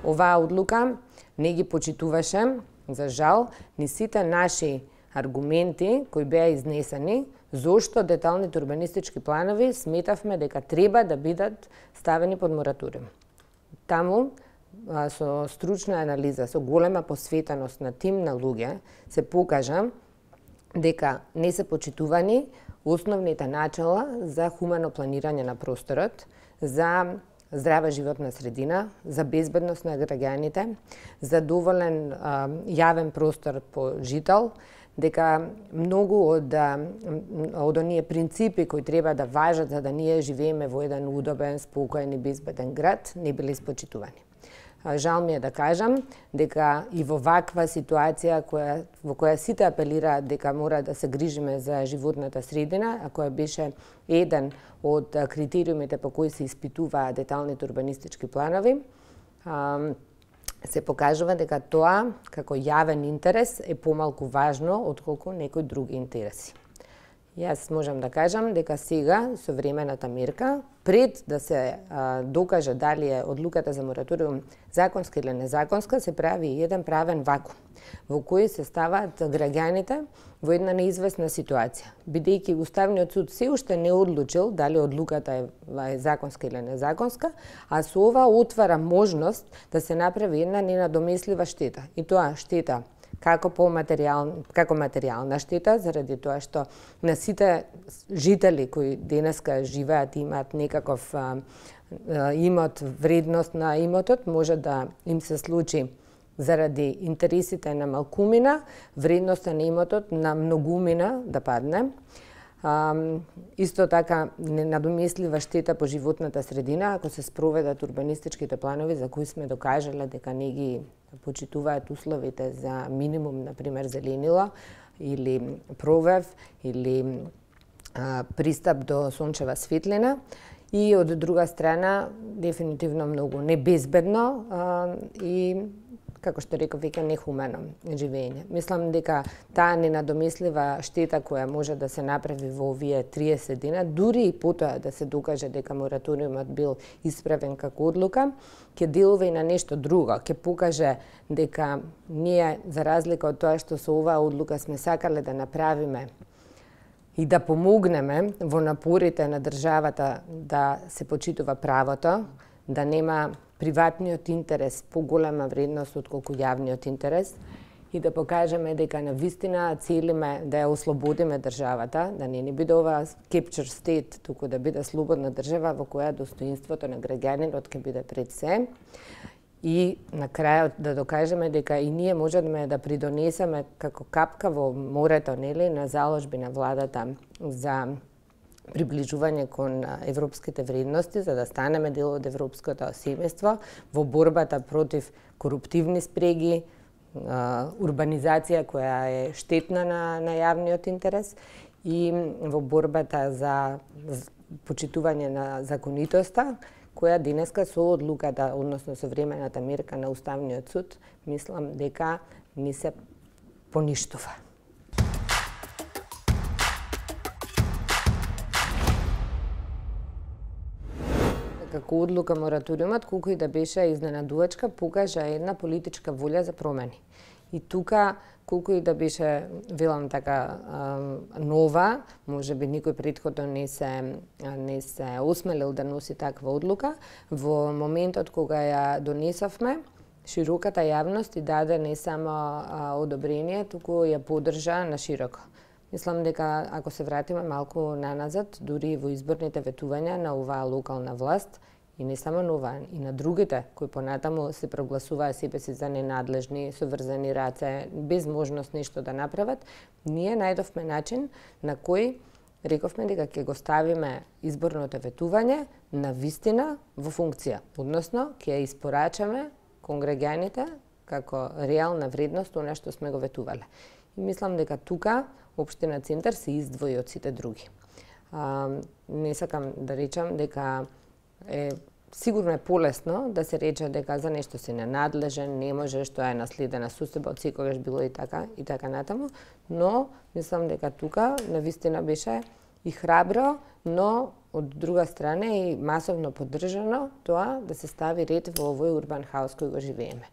Оваа одлука не ги почитуваше, за жал, ни сите наши аргументи кои беа изнесени, зошто деталните урбанистички планови сметавме дека треба да бидат ставени под мораториум. Таму, со стручна анализа, со голема посветеност на тим на луѓе, се покажа дека не се почитувани основните начала за хумано планирање на просторот, за здрава животна средина, за безбедност на граѓаните, за доволен јавен простор по жител, дека многу од оние принципи кои треба да важат за да ние живееме во еден удобен, спокоен и безбеден град, не били испочитувани. Жал ми е да кажам дека и во ваква ситуација во која сите апелираат дека мора да се грижиме за животната средина, а која беше еден од критериумите по кои се испитуваа деталните урбанистички планови, се покажува дека тоа како јавен интерес е помалку важно отколку некои други интереси. Јас можам да кажам дека сега со времената мерка, пред да се докаже дали е одлуката за мораториум законска или незаконска, се прави еден правен вакуум во кој се ставаат граѓаните во една неизвестна ситуација, бидејќи Уставниот суд се уште не одлучил дали одлуката е законска или незаконска, а со ова отвара можност да се направи една ненадомеслива штета. И тоа штета како материјална штета, заради тоа што на сите жители кои денеска живеат и имаат некаков имот, вредност на имотот, може да им се случи заради интересите на малкумина, вредноста на имотот на многумина да падне. Исто така ненадомеслива штета по животната средина ако се спроведат урбанистичките планови за кои сме докажале дека не ги почитуваат условите за минимум, например, зеленило или провев или пристап до сончева светлина, и од друга страна дефинитивно многу небезбедно и, како што реков, веќе нехумано живење. Мислам дека таа ненадомеслива штета која може да се направи во овие 30 дена, дури и потоа да се докаже дека мораториумот бил исправен како одлука, ќе делува и на нешто друго, ќе покаже дека ние, за разлика од тоа што со оваа одлука сме сакале да направиме и да помогнеме во напорите на државата да се почитува правото, да нема приватниот интерес поголема вредност отколку јавниот интерес, и да покажеме дека навистина целиме да ја ослободиме државата, да не ни биде ова capture state, туку да биде слободна држава во која достоинството на граѓанинот ќе биде пред се. И на крајот да докажеме дека и ние можеме да придонесеме како капка во морето, нели, на заложби на владата за приближување кон европските вредности, за да станеме дел од европското семејство во борбата против коруптивни спреги, урбанизација која е штетна на јавниот интерес и во борбата за почитување на законитоста, која денеска со одлуката, односно со времената мерка на Уставниот суд, мислам дека ни се поништува. Како одлука мораториумот, колку и да беше изненадувачка, покажа една политичка волја за промени. И тука, колку и да беше, велам така, нова, може би никој претходно не се осмелил да носи таква одлука, во моментот кога ја донесовме, широката јавност и даде не само одобрение, туку ја поддржа на широко. Мислам дека ако се вратиме малку наназад, дури во изборните ветувања на оваа локална власт, и не само на оваа, и на другите, кои понатаму се прогласуваа себе си за ненадлежни, со врзани раце, без можност нешто да направат, ние најдовме начин на кој рековме дека ќе го ставиме изборното ветување на вистина во функција, односно ќе ја испорачаме кон граѓаните како реална вредност она што сме го ветувале. И мислам дека тука Општина Центар се издвои од сите други. Не сакам да речам дека сигурно е полесно да се рече дека за нешто си ненадлежен, не можеш, тоа е наследена состојба од секогаш било и така натаму, но мислам дека тука навистина беше и храбро, но од друга страна и масовно поддржано тоа да се стави ред во овој урбан хаос кој го живееме.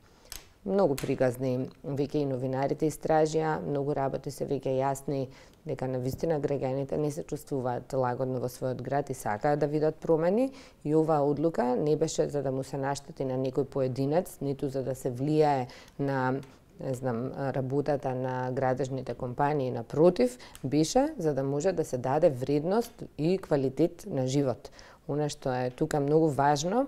Многу пригазни веќе и новинарите истражија, многу работи се веќе јасни дека навистина граѓаните не се чувствуваат лагодно во својот град и сакаат да видат промени, и оваа одлука не беше за да му се наштети на некој поединец, ниту за да се влијае на работата на градежните компании, напротив, беше за да може да се даде вредност и квалитет на живот. Она што е тука многу важно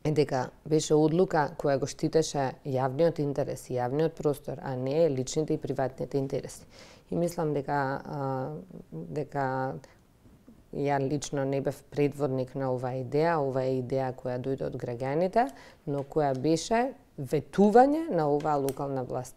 е дека беше одлука која го штитеше јавниот интерес и јавниот простор, а не личните и приватните интереси. И мислам дека ја лично не бев предводник на оваа идеја која дојде од граѓаните, но која беше ветување на оваа локална власт.